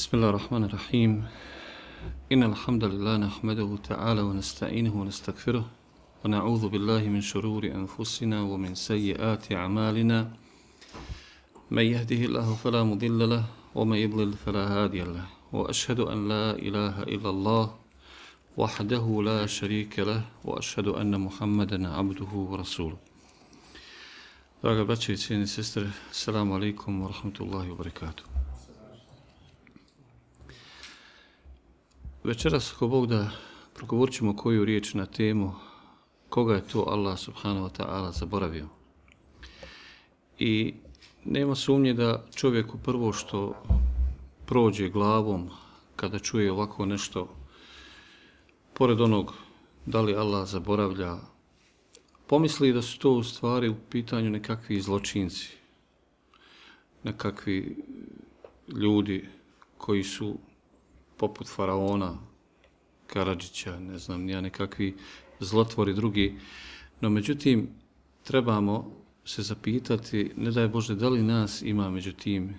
بسم الله الرحمن الرحيم إن الحمد لله نحمده تعالى ونستعينه ونستغفره ونعوذ بالله من شرور أنفسنا ومن سيئات أعمالنا من يهده الله فلا مضل له ومن يضلل فلا هادي له وأشهد أن لا إله إلا الله وحده لا شريك له وأشهد أن محمدا عبده ورسوله. Draga braće i cijene sestre, assalamu alaikum wa rahmatullahi wa barakatuh. Večeras, ako Bog da, progovorit ćemo koju riječ na temu koga je to Allah subhanahu wa ta'ala zaboravio. I nema sumnje da čovjeku prvo što prođe glavom kada čuje ovako nešto, pored onog da li Allah zaboravlja, pomisli da su to u stvari u pitanju nekakvi zločinci, nekakvi ljudi koji su poput faraona, Karadžića, ne znam, nija nekakvi zlotvori drugi. No međutim, trebamo se zapitati, ne daj Bože, da li nas ima među tim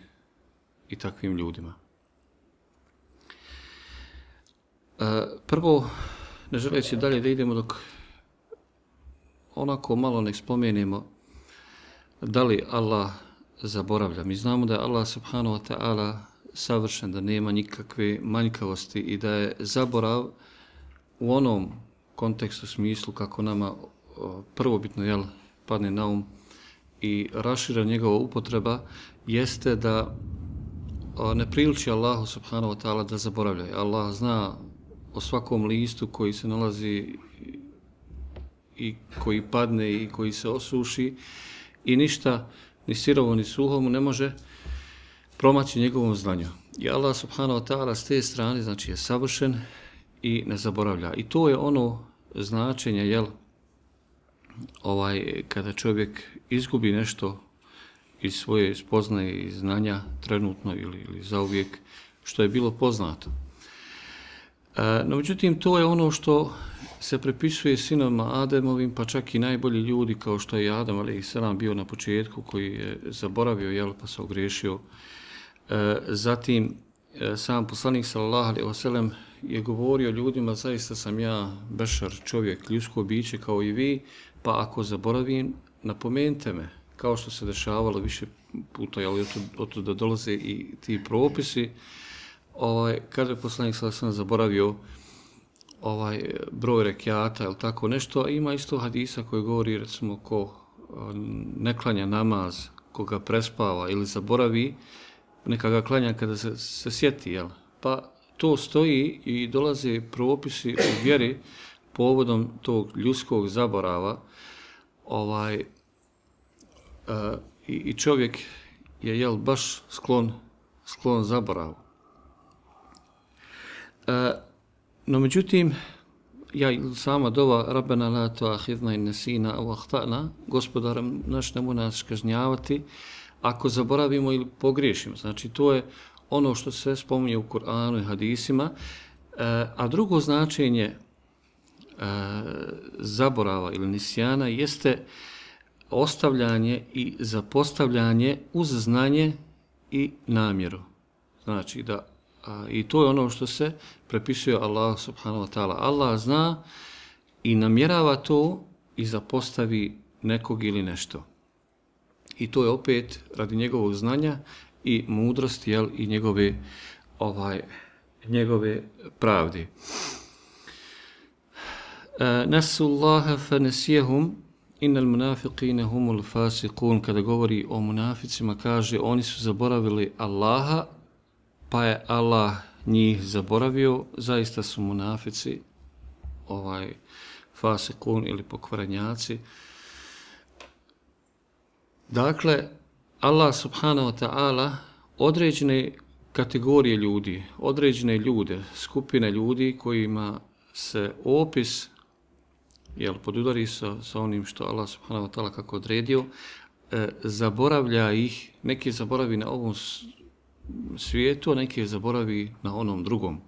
i takvim ljudima. Prvo, ne želeći dalje da idemo dok onako malo nek spomenemo da li Allah zaboravlja. Mi znamo da je Allah subhanahu wa ta'ala savršen, da nema nikakve manjkavosti i da je zaborav u onom kontekstu, smislu kako nama prvobitno padne na um i rašira njegova upotreba, jeste da ne priliči Allahu subhanahu wa ta'ala da zaboravlja. Allah zna o svakom listu koji se nalazi i koji padne i koji se osuši i ništa ni sirovo ni suho mu ne može promaći njegovom znanju. I Allah subhanahu wa ta'ala s te strane znači je savršen i ne zaboravlja. I to je ono značenje, kada čovjek izgubi nešto iz svoje spoznaje i znanja trenutno ili zauvijek što je bilo poznato. No međutim, to je ono što se prepisuje sinovima Ademovim, pa čak i najbolji ljudi kao što je Adam a.s. bio na početku, koji je zaboravio, pa se ogriješio. Zatim, sam poslanik sallallahu alejhi ve sellem je govorio ljudima, zaista sam ja bešar, čovjek, ljudsko biće kao i vi, pa ako zaboravim, napomenite me, kao što se dešavalo više puta, od da dolaze i ti propisi, kada je poslanik sallallahu alejhi ve sellem zaboravio broj rekiata ili tako nešto, a ima isto hadisa koji govori, recimo, ko ne klanja namaz, ko ga prespava ili zaboravi, neka ga klanja kada se sjeti, Pa to stoji i dolaze propisi u vjeri povodom tog ljudskog zaborava, i čovjek je, baš sklon zaboravu. No međutim, sama dova Rabbena la tu'akhidhna in nasina aw akhta'na, Gospodar naš nemoj nas kažnjavati ako zaboravimo ili pogriješimo. Znači to je ono što se spominje u Kur'anu i hadisima. A drugo značenje zaborava ili nisjana jeste ostavljanje i zapostavljanje uz znanje i namjeru. Znači da i to je ono što se prepisuje Allah subhanahu wa ta'ala. Allah zna i namjerava to i zapostavi nekog ili nešto. I to je opet radi njegovog znanja i mudrosti, i njegove pravde. Nasullaha fa nasiyahum innal munafiqina humul fasiqun. Kada govori o munaficima, kaže oni su zaboravili Allaha, pa je Allah njih zaboravio. Zaista su munafici fasikun ili pokvarenjaci. Dakle, Allah subhanahu wa ta'ala određene kategorije ljudi, određene ljude, skupine ljudi kojima se opis podudari sa onim što Allah subhanahu wa ta'ala kako odredio, zaboravlja ih, neki zaboravi na ovom svijetu, a neki zaboravi na onom drugom.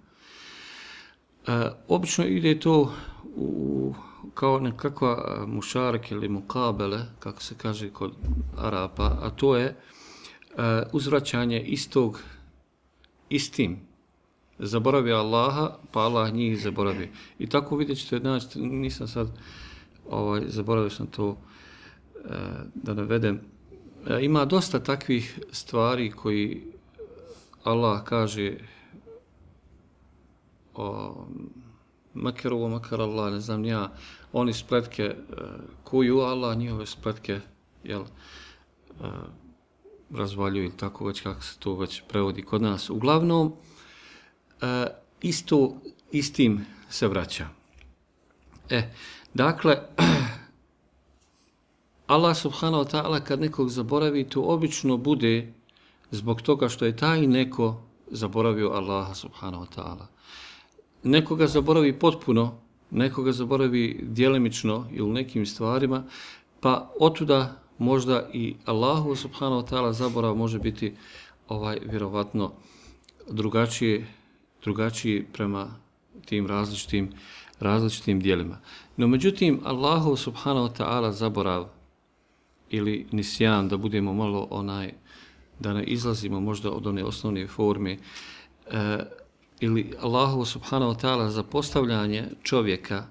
Obično ide to kao nekakva mušarak ili mukabele, kako se kaže kod Arapa, a to je uzvraćanje istog istim zaboravio Allaha, pa Allah njih zaboravio. I tako vidjet ćete, znači, nisam sad, zaboravio sam to da navedem. Ima dosta takvih stvari koji Allah kaže makeru makar Allah, ne znam ja, oni spletke kuju, Allah njihove spletke razvaljuju ili tako već kako se to već prevodi kod nas. Uglavnom, istim se vraća. Dakle, Allah subhanahu wa ta'ala kad nekog zaboravi, to obično bude zbog toga što je taj neko zaboravio Allaha subhanahu wa ta'ala. Nekoga zaboravi potpuno, nekoga zaboravi djelimično ili nekim stvarima, pa otuda možda i Allahu subhanahu wa ta'ala zaborav može biti vjerovatno drugačiji prema tim različitim djelima. No međutim, Allahu subhanahu wa ta'ala zaborav ili nisjan, da budemo malo da ne izlazimo možda od one osnovne forme, ili Allahu subhanahu wa ta'ala zapostavljanje čovjeka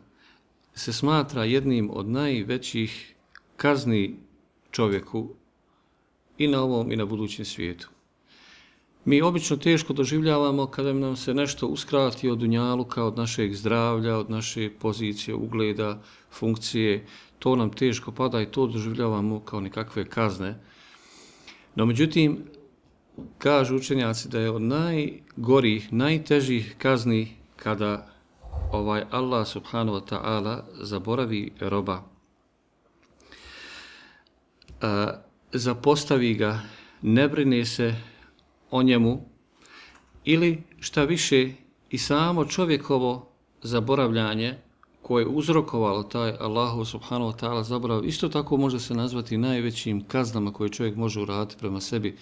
se smatra jednim od najvećih kazni čovjeku i na ovom i na budućem svijetu. Mi obično teško doživljavamo kada nam se nešto uskrati od dunjaluka, od našeg zdravlja, od naše pozicije, ugleda, funkcije. To nam teško pada i to doživljavamo kao nekakve kazne. No međutim, kažu učenjaci da je od najgorih, najtežih kazni kada Allah subhanahu wa ta'ala zaboravi roba, zapostavi ga, ne brine se o njemu, ili šta više i samo čovjekovo zaboravljanje koje je uzrokovalo taj Allahu subhanahu wa ta'ala zaborav, isto tako može se nazvati najvećim kaznama koje čovjek može uraditi prema sebi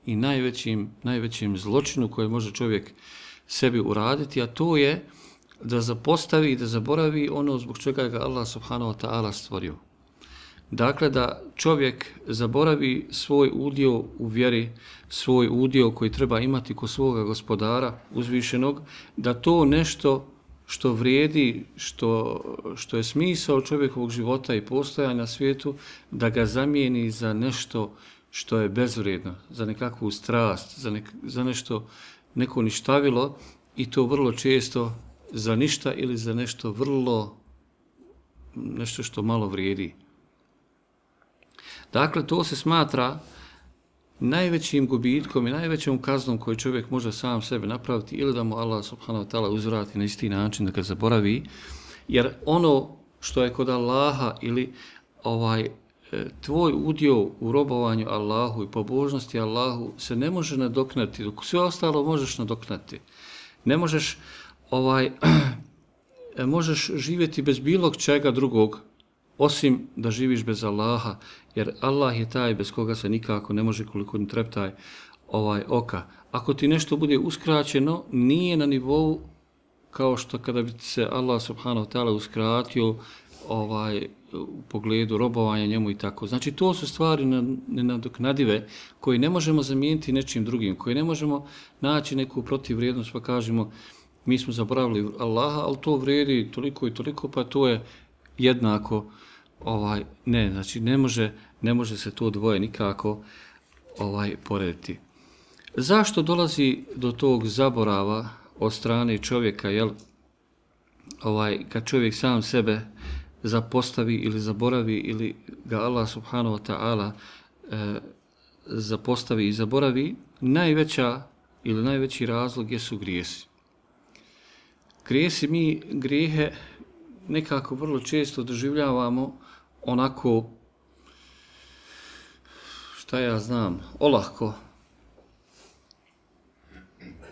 i najvećim zločinu koje može čovjek sebi uraditi, a to je da zapostavi i da zaboravi ono zbog čega ga Allah subhanahu wa ta'ala stvorio. Dakle, da čovjek zaboravi svoj udio u vjeri, svoj udio koji treba imati kod svoga gospodara uzvišenog, da to nešto što vrijedi, što je smisao čovjekovog života i postojanja na svijetu, da ga zamijeni za nešto što je bezvrijedno, za nekakvu strast, za nešto, neko ništavilo, i to vrlo često za ništa ili za nešto nešto što malo vrijedi. Dakle, to se smatra najvećim gubitkom i najvećom kaznom koju čovjek može sam sebe napraviti, ili da mu Allah subhanahu wa ta'ala uzvrati na isti način, da ga zaboravi, jer ono što je kod Allaha ili tvoj udio u robovanju Allahu i pobožnosti Allahu se ne može nadoknati, dok sve ostalo možeš nadoknati. Ne možeš možeš živjeti bez bilo čega drugog, osim da živiš bez Allaha, jer Allah je taj bez koga se nikako ne može, koliko ni treptaj oka. Ako ti nešto bude uskraćeno, nije na nivou kao što kada bi se Allah subhanahu wa ta'ala uskratio u pogledu robovanja njemu i tako. Znači, to su stvari nenadoknadive koje ne možemo zamijeniti nečim drugim, koje ne možemo naći neku protivvrijednost pa kažemo mi smo zaboravili Allaha, ali to vrijedi toliko i toliko, pa to je jednako. Ne, znači ne može se to dvoje nikako porediti. Zašto dolazi do tog zaborava od strane čovjeka, kad čovjek sam sebe zapostavi ili zaboravi, ili ga Allah subhanahu wa ta'ala zapostavi i zaboravi? Najveći razlog jesu grijesi. Mi grijehe nekako vrlo često doživljavamo onako, olahko.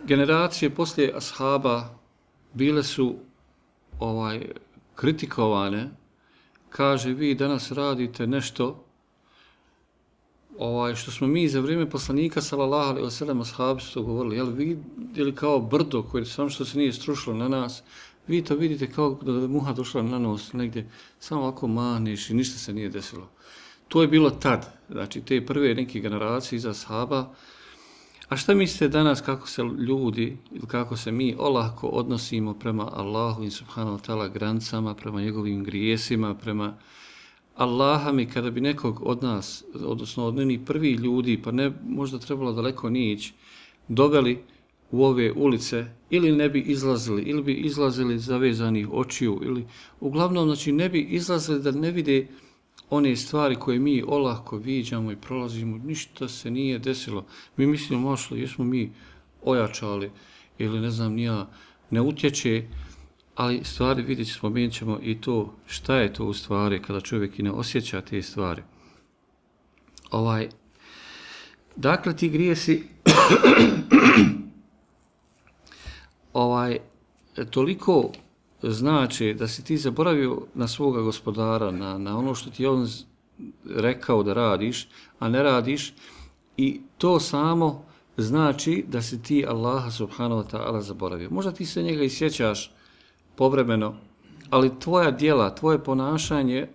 Generacije poslije ashaba bile su kritikovane, kaže vi danas radite nešto što smo mi za vrijeme poslanika sallallahu alejhi ve sellem ashabi su to govorili, vidjeli kao brdo koje samo što se nije strušilo na nas, vi to vidite kao da je muha došla na nos negdje, samo ovako mahneš i ništa se nije desilo. To je bilo tad, znači te prve neke generacije iza ashaba, A šta mislite danas kako se ljudi ili kako se mi olako odnosimo prema Allahu i subhanahu wa ta'ala granicama, prema njegovim grijesima, prema Allaha mi kada bi nekog od nas, odnosno od onih prvih ljudi, pa ne možda trebalo daleko ni ići, doveli u ove ulice ili ne bi izlazili, ili bi izlazili zavezanih očiju, ili uglavnom znači ne bi izlazili da ne vide one stvari koje mi olako viđamo i prolazimo, ništa se nije desilo. Mi mislimo, možda jesmo mi ojačali ili ne znam nija, ne utječe, ali stvari vidjet ćemo, spomenut ćemo i to šta je to u stvari kada čovjek i ne osjeća te stvari. Dakle, ti grijesi toliko znači da si ti zaboravio na svoga gospodara, na ono što ti on rekao da radiš, a ne radiš, i to samo znači da si ti Allaha subhanahu wa ta'ala zaboravio. Možda ti se njega i sjećaš povremeno, ali tvoja djela, tvoje ponašanje,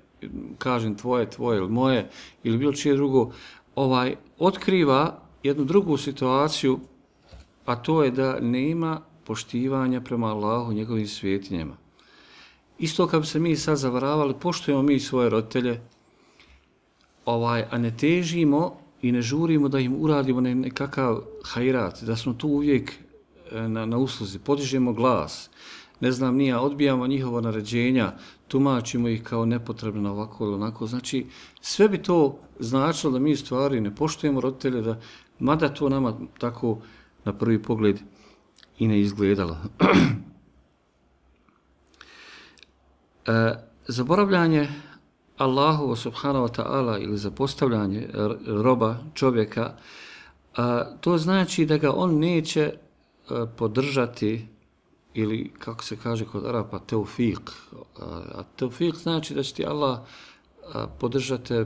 kažem tvoje ili moje ili bilo čije drugo, otkriva jednu drugu situaciju, a to je da nema poštivanja prema Allahu i njegovim svetinjama. Isto kad bi se mi sad zavaravali, poštujemo mi svoje roditelje, a ne težimo i ne žurimo da im uradimo nekakav hajrat, da smo tu uvijek na usluzi, podižemo glas, ne znam nija, odbijamo njihova naređenja, tumačimo ih kao nepotrebno ovako ili onako. Znači, sve bi to značilo da mi u stvari ne poštujemo roditelje, mada to nama tako na prvi pogled i ne izgledalo. Zaboravljanje Allahu subhanahu wa ta'ala ili zapostavljanje roba čovjeka, to znači da ga on neće podržati ili, kako se kaže kod Arapa, teufik. A teufik znači da će ti Allah podržati,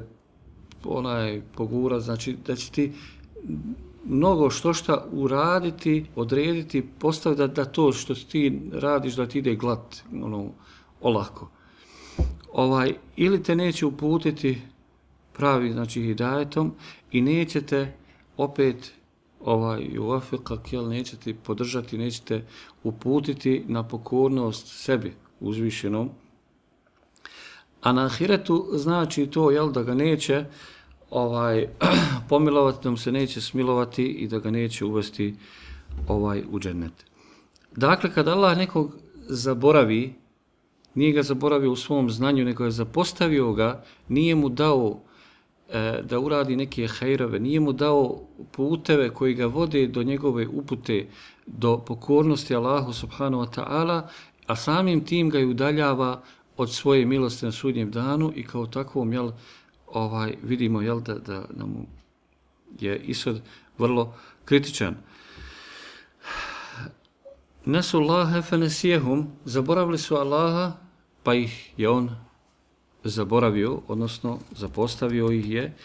pogura, znači da će ti mnogo šta uraditi, odrediti, postaviti da to što ti radiš da ti ide glat, olako. Ili te neće uputiti pravi, znači hidajetom, i nećete opet nećete podržati, nećete uputiti na pokornost sebi uzvišenom. A na ahiretu znači to, da ga neće pomilovati, da mu se neće smilovati i da ga neće uvesti u džennet. Dakle, kad Allah nekog zaboravi, nije ga zaboravio u svom znanju, nego je zapostavio ga, nije mu dao da uradi neke hajrove, nije mu dao puteve koji ga vode do njegove upute, do pokornosti Allahu subhanahu wa ta'ala, a samim tim ga i udaljava od svoje milosti na sudnjem danu i kao takvom, vidimo, da nam je ishod vrlo kritičan. Nasu Allahe fenesijehum, zaboravili su Allaha, pa ih je on zaboravio, odnosno zapostavio ih je.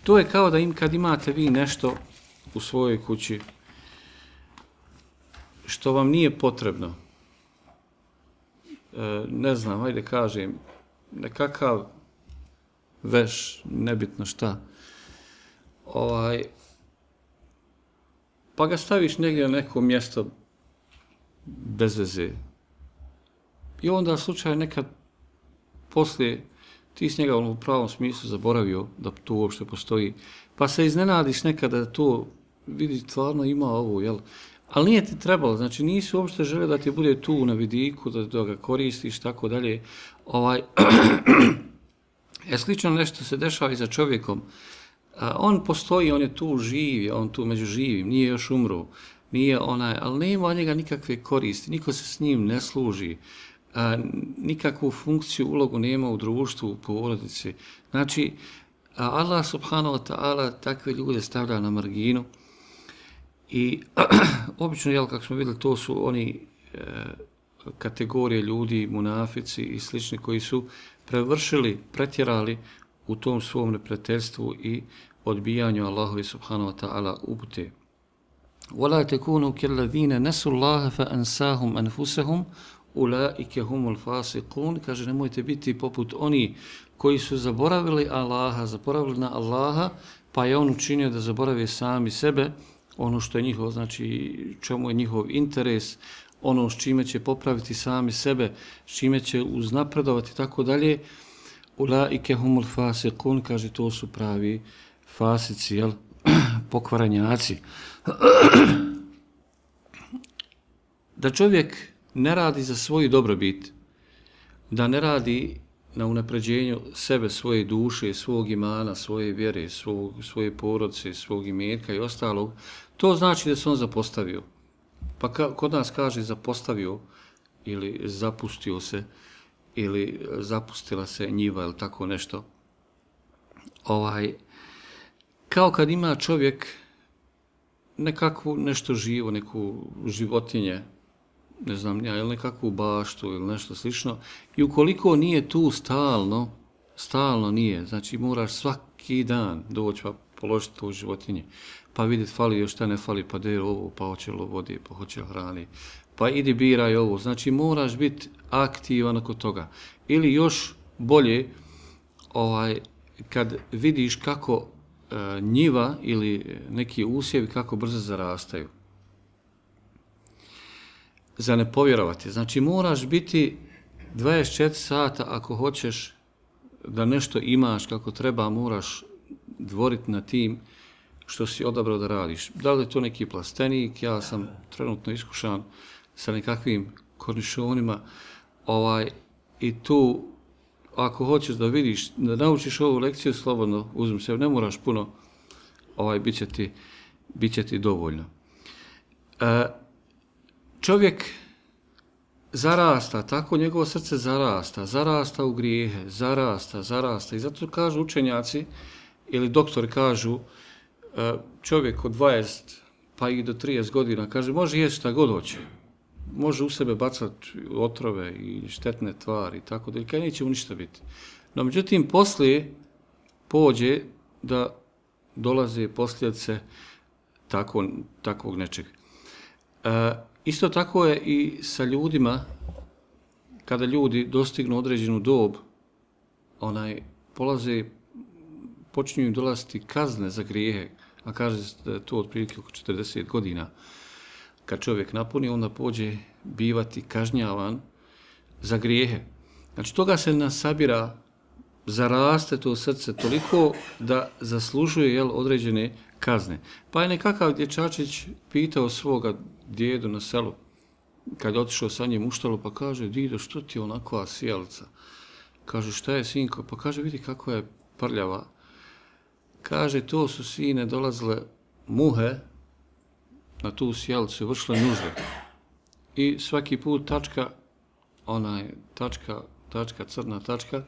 To je kao da kad imate vi nešto u svojoj kući što vam nije potrebno, ne znam, ajde kažem, nekakav veš, nebitno šta, pa ga staviš negdje na neko mjesto bez veze. I onda slučaj nekad poslije ti s njega u pravom smislu zaboravio da to uopšte postoji, pa se iznenadiš nekada da to vidi stvarno ima ovo, jel? Ali nije ti trebalo, znači nisi uopšte želeo da ti bude tu na vidiku, da ga koristiš, tako dalje. Slično nešto se dešava i za čovjekom. On postoji, on je tu živ, on tu među živim, nije još umro, ali nema od njega nikakve koristi, niko se s njim ne služi, nikakvu funkciju, ulogu nema u društvu, u porodici. Znači, Allah subhanahu wa ta'ala takve ljude stavlja na marginu i obično, kako smo vidjeli, to su oni kategorije ljudi, munafici i slični koji su pretjerali u tom svom neprijateljstvu i odbijanju Allahovi subhanahu wa ta'ala upute. وَلَا تَكُونُوا كَالَّذِينَ نَسُوا اللَّهَ فَأَنْسَاهُمْ أَنْفُسَهُمْ أُولَٰئِكَ هُمُ الْفَاسِقُونَ. Kaže, nemojte biti poput oni koji su zaboravili Allaha, zaboravili na Allaha, pa je on učinio da zaborave sami sebe. ono što je njihov, znači čemu je njihov interes, ono s čime će popraviti sami sebe, s čime će uznapredovati i tako dalje. Ulaike humul fasikun, kaže, to su pravi fasici, jel? Pokvaranjaci. Da čovjek ne radi za svoju dobrobit, da ne radi na unapređenju sebe, svoje duše, svog imana, svoje vjere, svoje porodice, svog imetka i ostalog, to znači da se on zapostavio. Pa kod nas kaže zapostavio ili zapustio se ili zapustila se njiva ili tako nešto. Kao kad ima čovjek nekakvu nešto živo, neku životinje, ne znam ja, ili nekakvu baštu ili nešto slično, i ukoliko nije tu stalno nije, znači moraš svaki dan doći pa položiti tu životinje, pa vidjeti fali još šta ne fali, pa da je ovo, pa hoće li vodi, pa hoće li hrani, pa idi biraj ovo, znači moraš biti aktivan oko toga. Ili još bolje, kad vidiš kako njiva ili neki usjevi kako brzo zarastaju. Za ne povjerovati. Znači moraš biti 24 sata ako hoćeš da nešto imaš kako treba, moraš dvoriti na tim što si odabrao da radiš. Da li je to neki plastenik, ja sam trenutno iskušan sa nekakvim kornišonima, i tu ako hoćeš da vidiš, da naučiš ovu lekciju, slobodno uzmi se, ne moraš puno, bit će ti dovoljno. Čovjek zarasta, tako njegovo srce zarasta u grijehe, zarasta. I zato kažu učenjaci ili doktori kažu, čovjek od 20 pa i do 30 godina, kaže, može jesti šta god hoće. Može u sebe bacati otrove i štetne tvari i tako da, kaj neće mu ništa biti. No, međutim, poslije pođe da dolaze posljedice takvog nečeg. Isto tako je i sa ljudima, kada ljudi dostignu određenu dob, počinju im dolaziti kazne za grijehe, a kaže da je to otprilike oko 40 godina. Kad čovjek napuni, onda pođe bivati kažnjavan za grijehe. Znači, toga se nasabira, zaraste to srce toliko da zaslužuje određene kazne. Pa je nekakav dječačić pitao svoga djedu na selu, kad je otišao sa njim u štalu, pa kaže, dido, što ti je onakva sijalica? Kaže, šta je, sinko? Pa kaže, vidi kako je prljava. Kaže, to su, sine, dolazile muhe na tu sjelicu i vršile nužde. I svaki put crna tačka,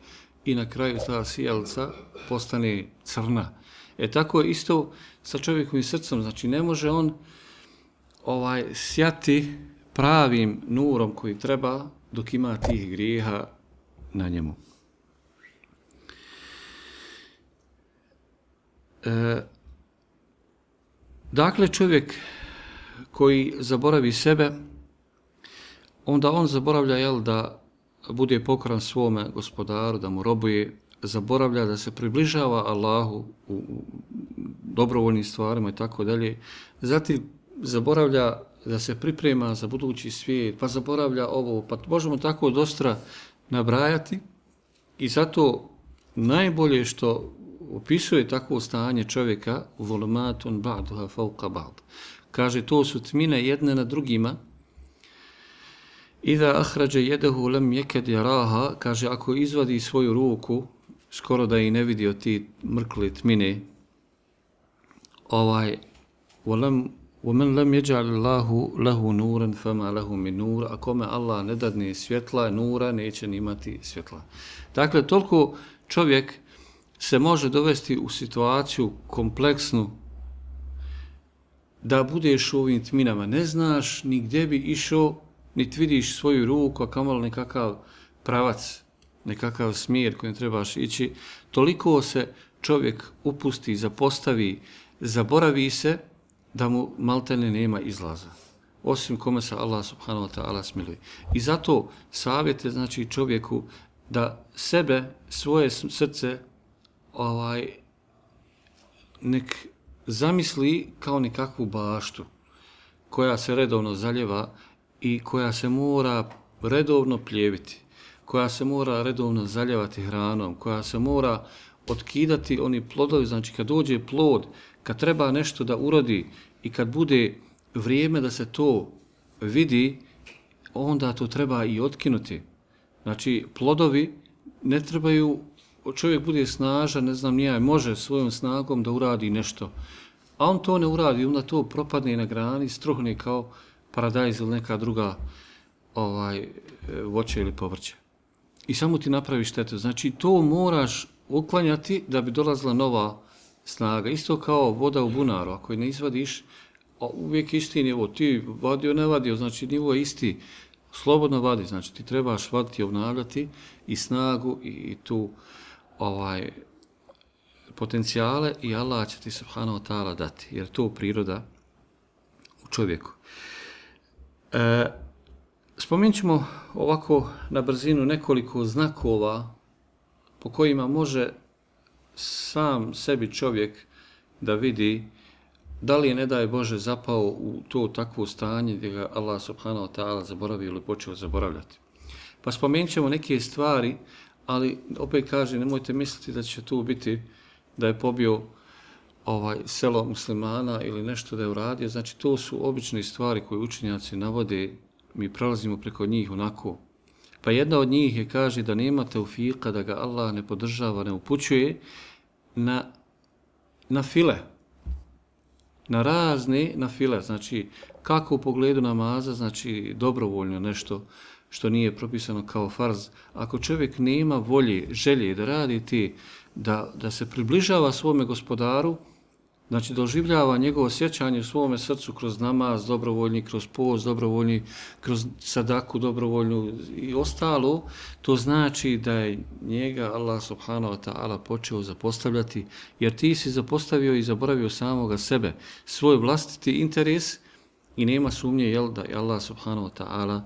i na kraju ta sjelica postane crna. Tako je isto sa čovjekovim srcem, znači ne može on sjati pravim nurom koji treba dok ima tih grijeha na njemu. Dakle, čovjek koji zaboravi sebe, onda on zaboravlja da bude pokoran svome gospodaru, da mu robuje, zaboravlja da se približava Allahu u dobrovoljnim stvarima i tako dalje. Zatim zaboravlja da se priprema za budući svijet, pa zaboravlja ovo, pa možemo tako dosta nabrajati. I zato najbolje što opisuje takvo stanje čovjeka, volumatun ba'duha fawqa ba'd. Kaže, to su tmine jedne na drugima. Iza ahrađa jedehu lam jeked jaraha, kaže, ako izvadi svoju ruku, skoro da i ne vidio ti mrkle tmine, وَمَنْ لَمْ يَجْعَلِ اللَّهُ لَهُ نُورًا فَمَا لَهُ مِنْ نُورًا, a kome Allah ne dadne svjetla, nura, neće ni imati svjetla. Dakle, toliko čovjek se može dovesti u situaciju kompleksnu da budeš u ovim tminama. Ne znaš ni gdje bi išao, niti vidiš svoju ruku, a kamoli nekakav pravac, nekakav smjer kojim trebaš ići. Toliko se čovjek upusti, zapostavi, zaboravi se da mu maltene nema izlaza. Osim kome se Allah subhanahu wa ta'ala smiluje. I zato savjet je, znači, čovjeku da sebe, svoje srce nek zamisli kao nekakvu baštu koja se redovno zaljeva i koja se mora redovno pljeviti, koja se mora redovno zaljevati hranom, koja se mora otkidati oni plodovi, znači kad dođe plod, kad treba nešto da urodi i kad bude vrijeme da se to vidi, onda to treba i otkinuti. Znači plodovi ne trebaju, čovjek bude snažan, ne znam nija, može svojom snagom da uradi nešto, a on to ne uradi, onda to propadne na grani, struhne kao paradajz ili neka druga voće ili povrće. I samo ti napravi štetu. Znači to moraš uklanjati da bi dolazila nova snaga. Isto kao voda u bunaru, ako je ne izvadiš, uvijek isti nivo, ti vadio, ne vadio, znači nivo je isti, slobodno vadi, znači ti trebaš vaditi, obnavljati i snagu i tu potencijale i Allah će ti subhanahu wa ta'ala dati, jer to priroda u čovjeku. Spomenut ćemo ovako na brzinu nekoliko znakova po kojima može sam sebi čovjek da vidi da li je, ne daj Bože, zapao u to takvo stanje gdje ga Allah subhanahu wa ta'ala zaboravio ili počeo zaboravljati. Pa spomenut ćemo neke stvari, ali opet kaže, nemojte misliti da će tu biti da je pobio selo muslimana ili nešto da je uradio. Znači to su obične stvari koje učenjaci navode, mi prelazimo preko njih onako. Pa jedna od njih je, kaže, da nema teufika, da ga Allah ne podržava, ne upućuje na file, na razne na file. Znači kako u pogledu namaza, znači dobrovoljno nešto što nije propisano kao farz. Ako čovjek nema volje, želje da radi ti, da se približava svome gospodaru, znači doživljava njegovo sjećanje u svome srcu kroz namaz dobrovoljni, kroz post dobrovoljni, kroz sadaku dobrovoljnu i ostalo, to znači da je njega Allah subhanahu wa ta'ala počeo zapostavljati, jer ti si zapostavio i zaboravio samoga sebe, svoj vlastiti interes i nema sumnje da je Allah subhanahu wa ta'ala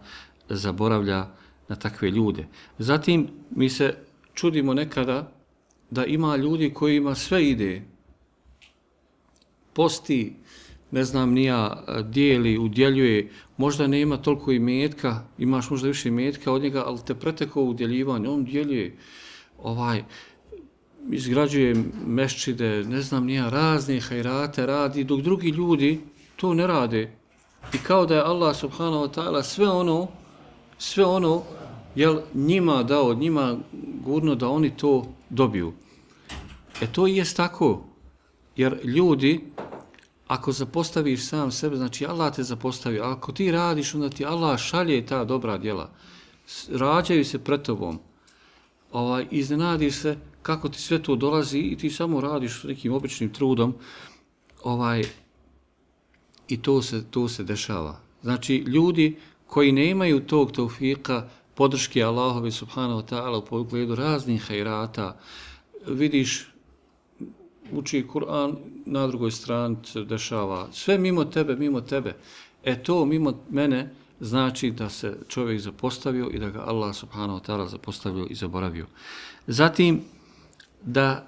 zaboravlja na takve ljude. Zatim mi se čudimo nekada da ima ljudi kojima sve ide, posti, ne znam nija, dijeli, udjeljuje, možda nema toliko imetka, imaš možda više imetka od njega, ali te pretekao u udjeljivanje, on djeljuje, izgrađuje meščide, ne znam nija, razne hajrate radi, dok drugi ljudi to ne rade. I kao da je Allah subhanahu wa ta'ala sve ono njima dao, njima gurno da oni to dobiju. To i jest tako, jer ljudi, ako zapostaviš sam sebe, znači Allah te zapostavi, a ako ti radiš, onda ti Allah šalje ta dobra djela, rađaju se pred tobom, iznenadiš se kako ti sve to dolazi i ti samo radiš s nekim običnim trudom, i to se dešava. Znači ljudi koji nemaju tog taufika, podrške Allahovi subhanahu wa ta'ala u pogledu raznih hajrata, vidiš, uči Kur'an, na drugoj strani se dešava sve mimo tebe. To mimo mene znači da se čovjek zapostavio i da ga Allah subhanahu wa ta'ala zapostavio i zaboravio. Zatim, da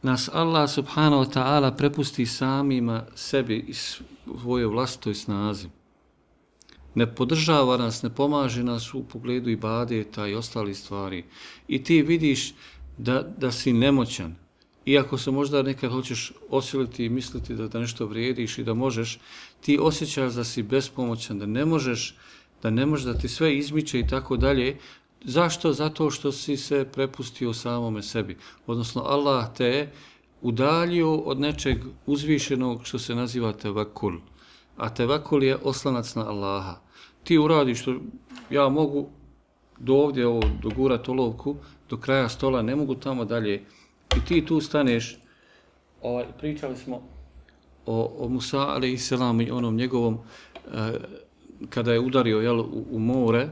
nas Allah subhanahu wa ta'ala prepusti samima sebi i svojoj vlastitoj snazi. Ne podržava nas, ne pomaže nas u pogledu ibadeta i ostalih stvari. I ti vidiš da si nemoćan. Iako se možda nekad hoćeš osiliti i misliti da nešto vrijediš i da možeš, ti osjećaš da si bespomoćan, da ne možeš da ti sve izmiče i tako dalje. Zašto? Zato što si se prepustio samome sebi. Odnosno, Allah te je udaljio od nečeg uzvišenog što se naziva tevakul. A tevakul je oslanac na Allaha. Ti uradiš što ja mogu do ovdje dogurati olovku, do kraja stola, ne mogu tamo dalje. I ti tu staneš, pričali smo o Musa a.s. i onom njegovom, kada je udario u more,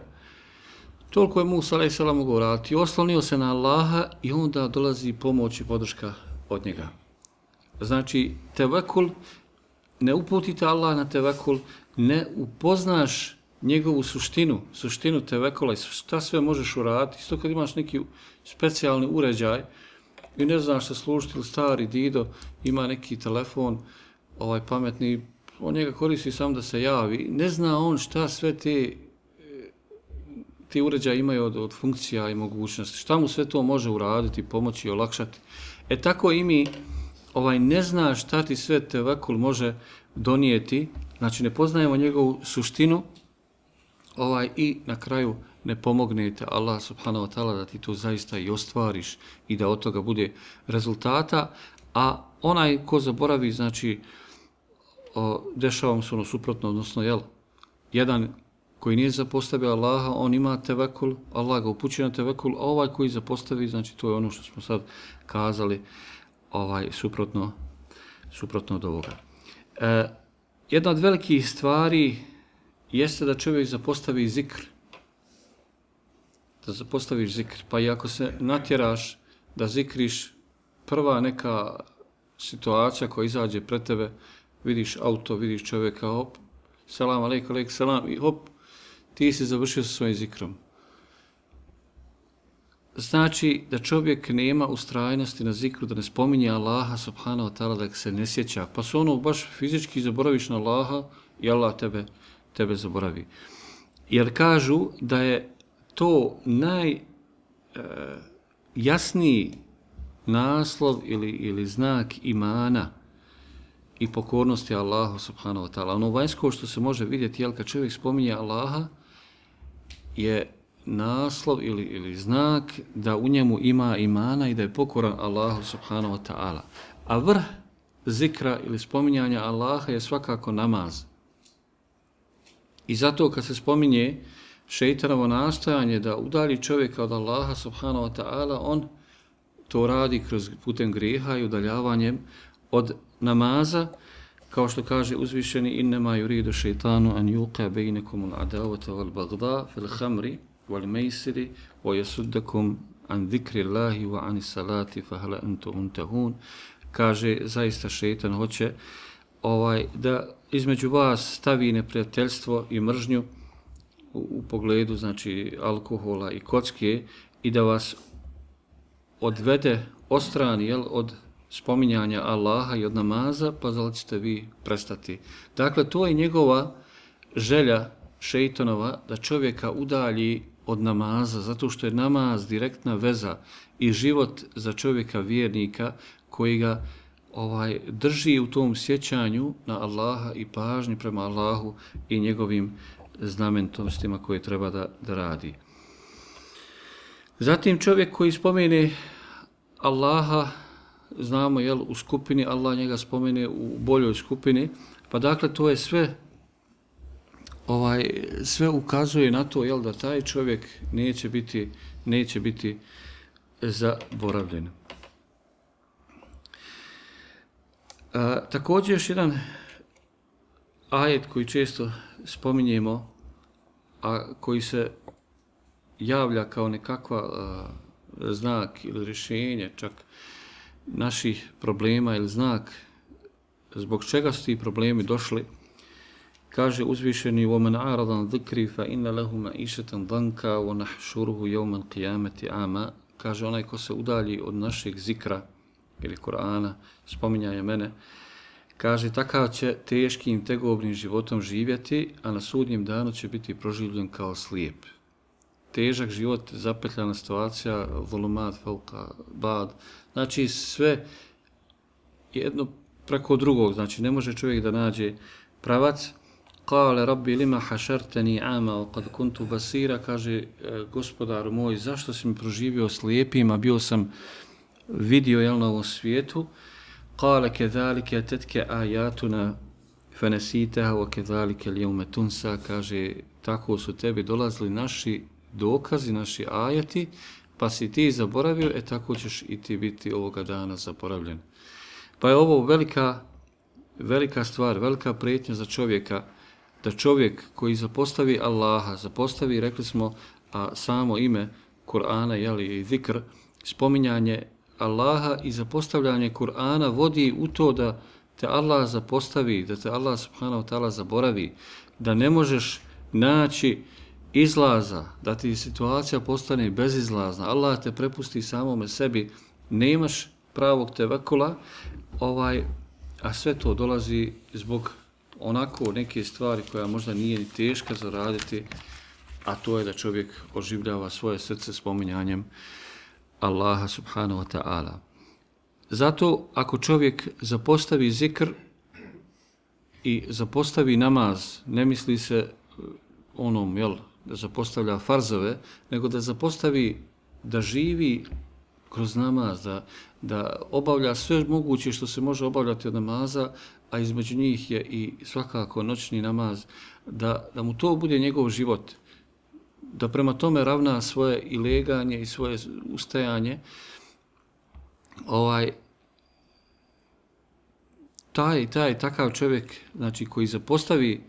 toliko je Musa a.s. mogao raditi. Oslonio se na Allaha i onda dolazi pomoć i podrška od njega. Znači, tevekul, ne uputite Allah na tevekul, ne upoznaš njegovu suštinu tevekula i šta sve možeš uraditi. Isto kad imaš neki specijalni uređaj, i ne znaš se služiti, ili stari dido ima neki telefon pametni, on njega koristi samo da se javi, ne zna on šta sve ti uređaji imaju od funkcija i mogućnosti, šta mu sve to može uraditi, pomoći i olakšati. Tako i mi ne zna šta ti sve tevekul može donijeti, znači ne poznajemo njegovu suštinu i na kraju ne pomognete Allah subhanahu wa ta'ala da ti to zaista i ostvariš i da od toga bude rezultata, a onaj ko zaboravi, znači dešava mu se ono suprotno, odnosno jedan koji nije zapostavio Allaha, on ima tevekul, Allah ga upućuje na tevekul, a ovaj koji zapostavi, znači to je ono što smo sad kazali, suprotno od ovoga. Jedna od velikih stvari jeste da čovjek zapostavi zikr. Da zapostaviš zikr. Pa i ako se natjeraš da zikriš, prva neka situacija koja izađe pred tebe, vidiš auto, vidiš čovjeka, hop, selam alejkum, alejkum selam, i hop, ti si završio sa svojim zikrom. Znači da čovjek nema ustrajnosti na zikru, da ne spominje Allaha subhanahu wa ta'ala, da se ne sjeća. Pa se baš fizički zaboraviš na Allaha i Allah tebe zaboravi. Jer kažu da je to najjasniji naslov ili znak imana i pokornosti Allahu subhanahu wa ta'ala. Ono vanjsko što se može vidjeti, kad čovjek spominje Allaha, je naslov ili znak da u njemu ima imana i da je pokoran Allahu subhanahu wa ta'ala. A vrh zikra ili spominjanja Allaha je svakako namaz. I zato kad se spominje šeitanovo nastojanje da udalji čovjeka od Allaha subhanahu wa ta'ala, on to radi putem grijeha i udaljavanjem od namaza, kao što kaže uzvišeni innema yuridu šeitanu an yuqa bejnekum al-adavata wal-bagda fil khamri wal-maisiri wa yasuddakum an zikri Allahi wa an salati fa hal antum muntahun. Kaže, zaista šeitan hoće da između vas stavi neprijateljstvo i mržnju u pogledu, znači, alkohola i kocke i da vas odvede, ostrani od spominjanja Allaha i od namaza, pa da li ćete vi prestati. Dakle, to je njegova želja šeitanova da čovjeka udalji od namaza, zato što je namaz direktna veza i život za čovjeka vjernika koji ga drži u tom sjećanju na Allaha i pažnji prema Allahu i njegovim znamenitostima koje treba da radi. Zatim čovjek koji spomene Allaha, znamo u skupini, Allah njega spomene u boljoj skupini, pa dakle to je sve ukazuje na to da taj čovjek neće biti zaboravljen. Također još jedan ajet koji često spominjemo, a koji se javlja kao nekakva znak ili rješenje čak naših problema ili znak zbog čega su ti problemi došli, kaže uzvišeni وَمَنْ عَرَضَ عَنْ ذِكْرِي فَإِنَّ لَهُ مَعِيشَةً ضَنْكَ وَنَحْشُرُهُ يَوْمَ الْقِيَامَةِ أَعْمَى. Kaže, onaj ko se udalji od našeg zikra ili Kur'ana, spominjanja mene, kaže, takav će teškim, tegobnim životom živjeti, a na sudnjem danu će biti proživljen kao slijep. Težak život, zapetljana situacija, volumat, fauka, bad, znači sve jedno preko drugog, znači ne može čovjek da nađe pravac. Kale rabbi lima hašarteni ama wa kad kuntu basira, kaže, gospodaru moj, zašto si mi proživio slijepim, a bio sam vidio na ovom svijetu. Kale kedalike atetke ajatuna fenesitaha wa kedalike ljevme tunsa, kaže, tako su tebi dolazili naši dokazi, naši ajati, pa si ti zaboravio, tako ćeš i ti biti ovoga dana zaboravljen. Pa je ovo velika stvar, velika prijetnja za čovjeka, da čovjek koji zapostavi Allaha, zapostavi, rekli smo, a samo ime Kur'ana i zikr, spominjanje Allaha i zapostavljanje Kur'ana vodi u to da te Allah zapostavi, da te Allah subhanahu wa ta'ala zaboravi, da ne možeš naći izlaza, da ti situacija postane bezizlazna. Allah te prepusti samome sebi nemaš pravog tevekula, a sve to dolazi zbog onako neke stvari koja možda nije ni teška za raditi, a to je da čovjek oživljava svoje srce spominjanjem Allaha subhanahu wa ta'ala. Zato ako čovjek zapostavi zikr i zapostavi namaz, ne misli se onom, da zapostavlja farzove, nego da zapostavi, da živi kroz namaz, da obavlja sve moguće što se može obavljati od namaza, a između njih je i svakako noćni namaz, da mu to bude njegov život, da prema tome ravna svoje i leganje i svoje ustajanje. Takav čovjek, znači, koji zapostavi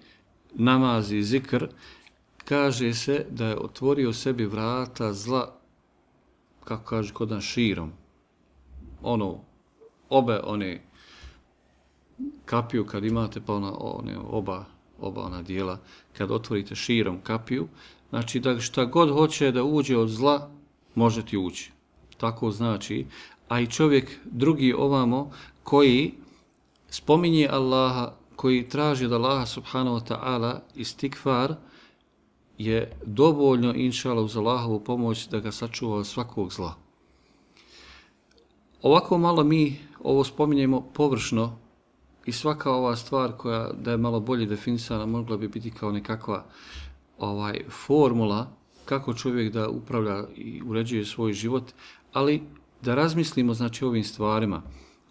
namaz i zikr, kaže se da je otvorio sebi vrata zla, kako kaže kod nas, širom. Obe one kapiju kad imate, pa oba ona dijela, kad otvorite širom kapiju, znači da šta god hoće da uđe od zla, može ti ući. Tako znači, a i čovjek drugi ovamo koji spominje Allaha, koji traži od Allaha subhanahu wa ta'ala istikfar, je dovoljno, inšala, uz Allahovu pomoć da ga sačuva od svakog zla. Ovako malo mi ovo spominjemo površno i svaka ova stvar koja da je malo bolje definisana mogla bi biti kao nekakva formula kako čovjek da upravlja i uređuje svoj život, ali da razmislimo, znači, ovim stvarima.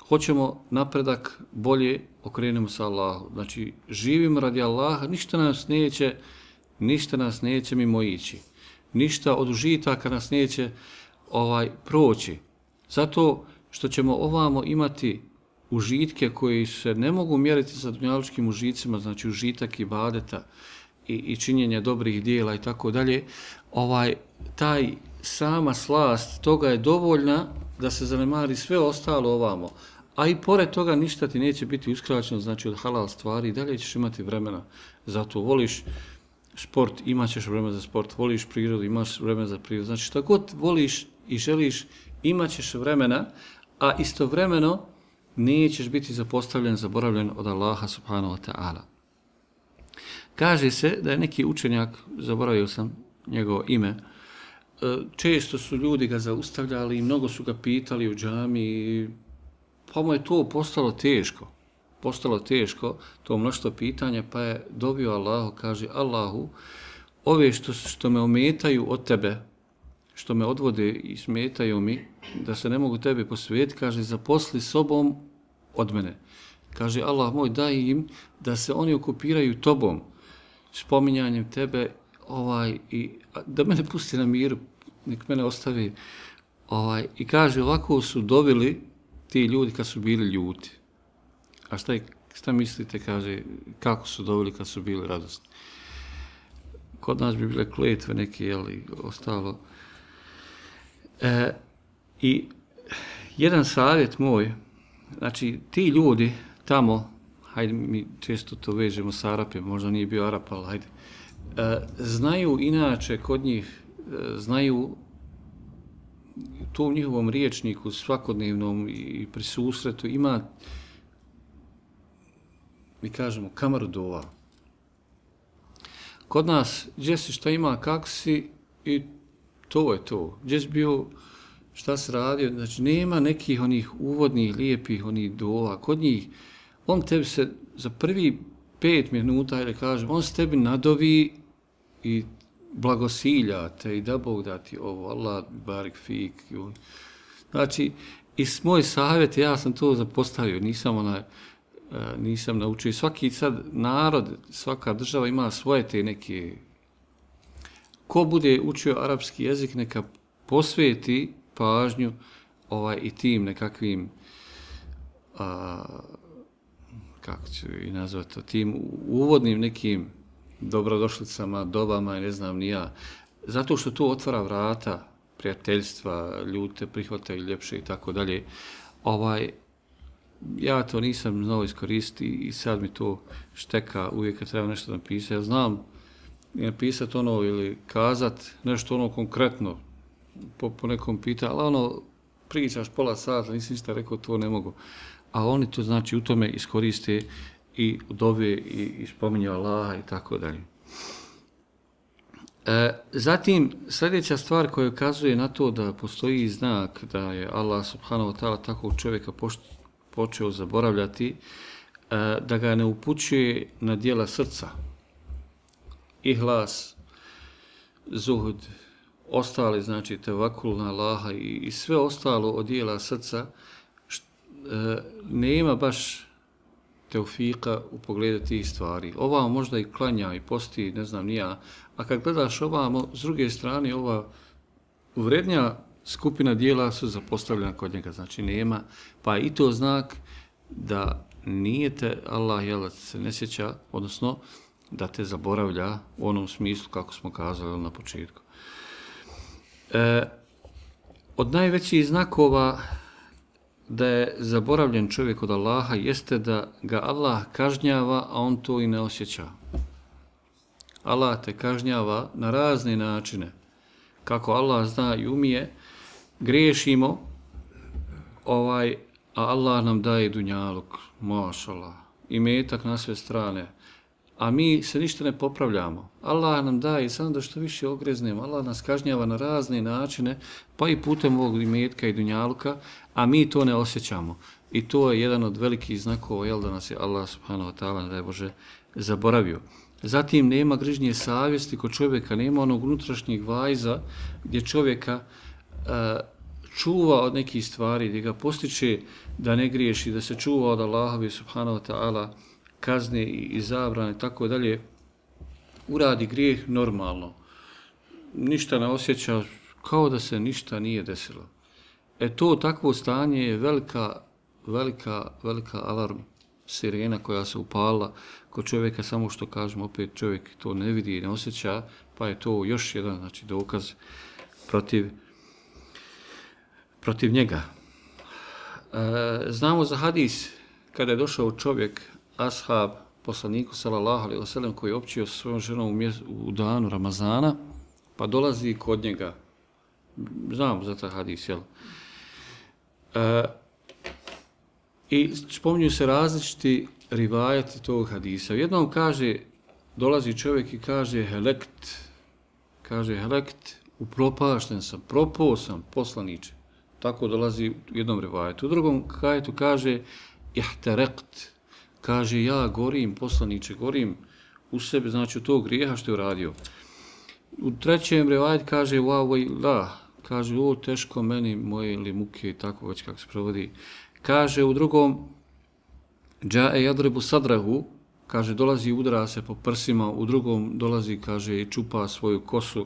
Hoćemo napredak, bolje okrenemo sa Allahom. Znači, živimo radi Allaha, ništa nas neće mimo ići. Ništa od užitaka nas neće proći. Zato što ćemo ovamo imati užitke koji se ne mogu mjeriti sa dunjalučkim užicima, znači užitak ibadeta i činjenja dobrih dijela i tako dalje, taj sama slast toga je dovoljna da se zanemari sve ostalo ovamo. A i pored toga ništa ti neće biti uskraćeno, znači od halal stvari, i dalje ćeš imati vremena. Zato voliš sport, imat ćeš vremena za sport, voliš prirodu, imaš vremena za prirodu. Znači šta god voliš i želiš, imat ćeš vremena, a istovremeno nećeš biti zapostavljen, zaboravljen od Allaha subhanahu wa ta'ala. Kaže se da je neki učenjak, zaboravio sam njegovo ime, često su ljudi ga zaustavljali i mnogo su ga pitali u džami, pa mu je to postalo teško, to mnoštvo pitanja, pa je dobio Allahu, kaže: Allahu, ove što me ometaju od tebe, što me odvode i smetaju mi, da se ne mogu tebi posvetiti, kaže, zaposli sobom od mene. Kaže: Allah moj, daj im da se oni okupiraju tobom, spominjanjem tebe, i da mene pusti na miru, nek mene ostavi. I kaže, ovako su dovili ti ljudi kad su bili ljuti. A šta mislite, kaže, kako su dovili kad su bili radosni? Kod nas bi bile kletve neke, ostalo. I jedan savjet moj, znači ti ljudi tamo, hajde mi često to vežemo s Arapima, možda nije bio Arap, ali hajde, znaju inače kod njih, znaju to u njihovom riječniku svakodnevnom i pri susretu ima, mi kažemo, kamaru dova. Kod nas, gdje si, šta ima, kako si, i to je to. Gdje si bio, šta se radio, znači nema nekih onih uvodnih, lijepih onih dova. Kod njih, on tebi se za prvi 5 minuta, ili kažem, on se tebi nadovi i blagosilja te i da Bog da ti ovo, Allah barik fik. Znači, i moj savjet, ja sam to zapostavio, nisam naučio. Svaki sad narod, svaka država ima svoje te neke. Ko bude učio arapski jezik, neka posveti pažnju i tim nekakvim, kako ću i nazvati to, tim uvodnim nekim dobrodošlicama, dobama i ne znam ni ja. Zato što to otvara vrata prijateljstva, ljudi te prihvataju ljepše i tako dalje. Ja to nisam znao iskoristiti i sad mi to šteka uvijek kad treba nešto napisati. Ja znam napisati ili kazati nešto konkretno po nekom pitanju, ali pričaš pola sata, nisi ništa rekao, to ne mogu. A oni to znači u tome iskoriste i dove i spominju Allaha i tako dalje. Zatim, sljedeća stvar koja ukazuje na to da postoji znak da je Allah subhanahu wa ta'ala takvog čovjeka počeo zaboravljati, da ga ne upućuje na dijela srca. Ihlas, zuhud, ostali, znači tevakul na Allaha i sve ostalo od dijela srca, nema baš teufika u pogledu tih stvari. Ova možda i klanja i posti, ne znam ni ja, a kad gledaš ovamo, s druge strane, ova vrednja skupina dijela su zapostavljena kod njega, znači nema, pa i to znak da nije te Allah jel, se ne sjeća, odnosno da te zaboravlja u onom smislu kako smo kazali na početku. Od najvećih znakova da je zaboravljen čovjek od Allaha jeste da ga Allah kažnjava, a on to i ne osjeća. Allah te kažnjava na razne načine. Kako Allah zna i umije, griješimo, a Allah nam daje dunjaluk, mašallah, i metak na sve strane. A mi se ništa ne popravljamo. Allah nam daje samo da što više ogreznemo. Allah nas kažnjava na razne načine, pa i putem ovog imetka i dunjaluka, a mi to ne osjećamo. I to je jedan od velikih znakova, jel, da nas je Allah subhanahu wa ta'ala, da je Bože, zaboravio. Zatim nema grižnje savjesti kod čovjeka, nema onog unutrašnjeg vajza gdje čovjeka čuva od nekih stvari, gdje ga postiče da ne griješi, da se čuva od Allahovi subhanahu wa ta'ala kazne i zabrane, tako dalje, uradi grijeh normalno. Ništa ne osjeća, kao da se ništa nije desilo. To takvo stanje je velika alarm, sirena koja se upala kod čovjeka, samo što kažemo, opet čovjek to ne vidi i ne osjeća, pa je to još jedan, znači, dokaz protiv njega. Znamo za hadis kada je došao čovjek, ashab, poslaniku sallallahu alejhi ve sellem, koji je općio sa svojom ženom u danu Ramazana, pa dolazi kod njega. Znamo za taj hadis, jel? I spominju se različiti rivajeti tog hadisa. Jednom kaže, dolazi čovjek i kaže helekt, upropašten sam, propao sam, poslaniče. Tako dolazi u jednom rivajetu. U drugom kajetu kaže ihtaraqt, kaže ja gorim, poslaniče, gorim u sebi, znači u tog grijeha što je uradio. U trećem rivajetu kaže kaže o teško meni moje ili muke i tako već kako se provodi. Kaže u drugom džae yadribu sadrahu, kaže dolazi i udara se po prsima, u drugom dolazi, kaže, i čupa svoju kosu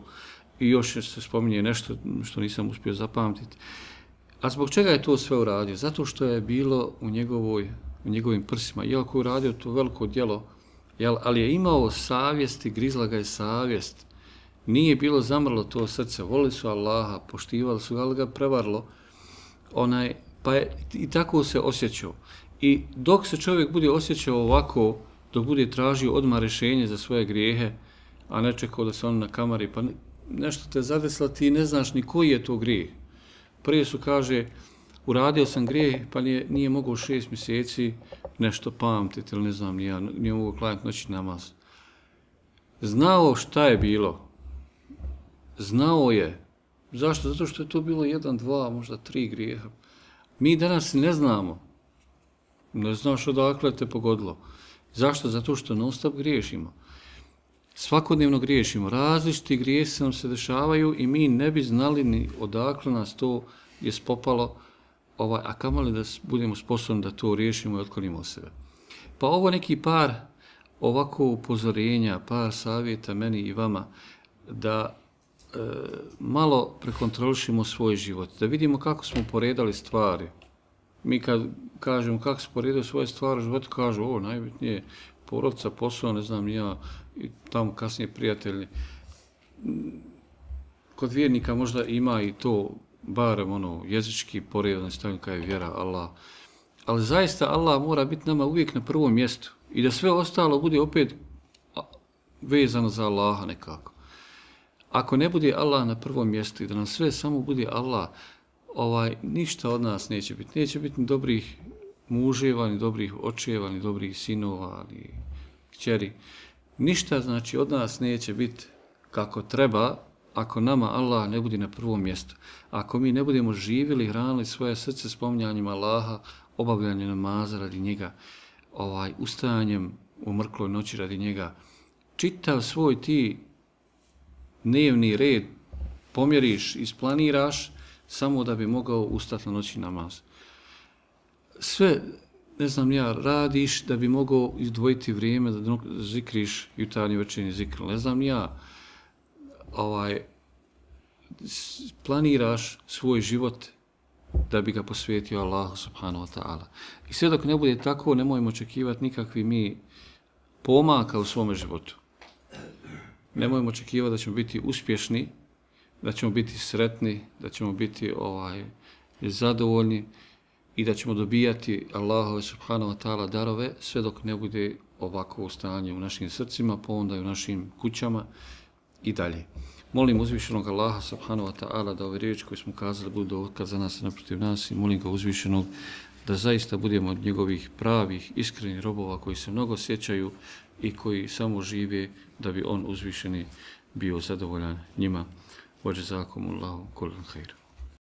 i još se spominje nešto što nisam uspio zapamtiti. A zbog čega je to sve uradio? Zato što je bilo u njegovim prsima. Iako je uradio to veliko djelo, ali je imao savjest i grizla ga je savjest. Nije bilo zamrlo to srce, volili su Allaha, poštivali su ga, ali ga prevarilo. Pa je i tako se osjećao. I dok se čovjek bude osjećao ovako, dok bude tražio odmah rješenje za svoje grijehe, a ne čekao da se on nakamari, pa nešto te zadesla, ti ne znaš ni koji je to grijeh. Prije su, kaže, uradio sam grijeh, pa nije mogao 6 mjeseci nešto pamtiti, ili ne znam, nije mogao klanjati noćni namaz. Znao šta je bilo. Znao je. Zašto? Zato što je to bilo 1, 2, možda 3 grijeha. Mi danas ne znamo. Ne znaš odakle te pogodilo. Zašto? Zato što non-stop griješimo. Svakodnevno griješimo. Različiti grijesi nam se dešavaju i mi ne bi znali ni odakle nas to je spopalo, a kamoli da budemo sposobni da to riješimo i otklonimo od sebe. Pa ovo neki par ovako upozorenja, par savjeta meni i vama da malo prekontrolišimo svoj život, da vidimo kako smo poredali stvari. Mi kad kažemo kako smo poredali svoje stvari u životu, kažu ovo najbitnije porodica, posao, ne znam ja, i tamo kasnije prijatelji. Kod vjernika možda ima i to, barem jezički poredan stavljeno kao je vjera Allah. Ali zaista Allah mora biti nama uvijek na prvom mjestu i da sve ostalo bude opet vezano za Allaha nekako. Ako ne bude Allah na prvom mjestu i da nam sve samo bude Allah, ništa od nas neće biti. Neće biti ni dobrih muževa, ni dobrih očeva, ni dobrih sinova, ni kćeri. Ništa znači od nas neće biti kako treba ako nama Allah ne bude na prvom mjestu. Ako mi ne budemo živjeli, hranili svoje srce spominjanjem Allaha, obavljanjem namaza radi njega, ustajanjem u mrkloj noći radi njega, čitav svoj ti dnevni red pomjeriš, isplaniraš samo da bi mogao ustati na noći namaz. Sve, ne znam ja, radiš da bi mogao izdvojiti vrijeme da zikriš jutarnji večernji zikr. Ne znam ja, planiraš svoj život da bi ga posvetio Allahu subhanahu wa ta'ala. I sve dok ne bude tako, nemojmo očekivati nikakvi mi pomaka u svome životu. Nemojmo očekivati da ćemo biti uspješni, da ćemo biti sretni, da ćemo biti zadovoljni i da ćemo dobijati Allahove subhanahu wa ta'ala darove sve dok ne bude ovako stanje u našim srcima, pa onda i u našim kućama i dalje. Molim uzvišenog Allaha subhanahu wa ta'ala da ove riječi koje smo kazali budu dokaz za nas i naprotiv nas i molim ga uzvišenog da zaista budemo od njegovih pravih, iskrenih robova koji se mnogo sjećaju i koji samo žive da bi on uzvišeni bio zadovoljan njima. Wa jazakumullahu kullan khair.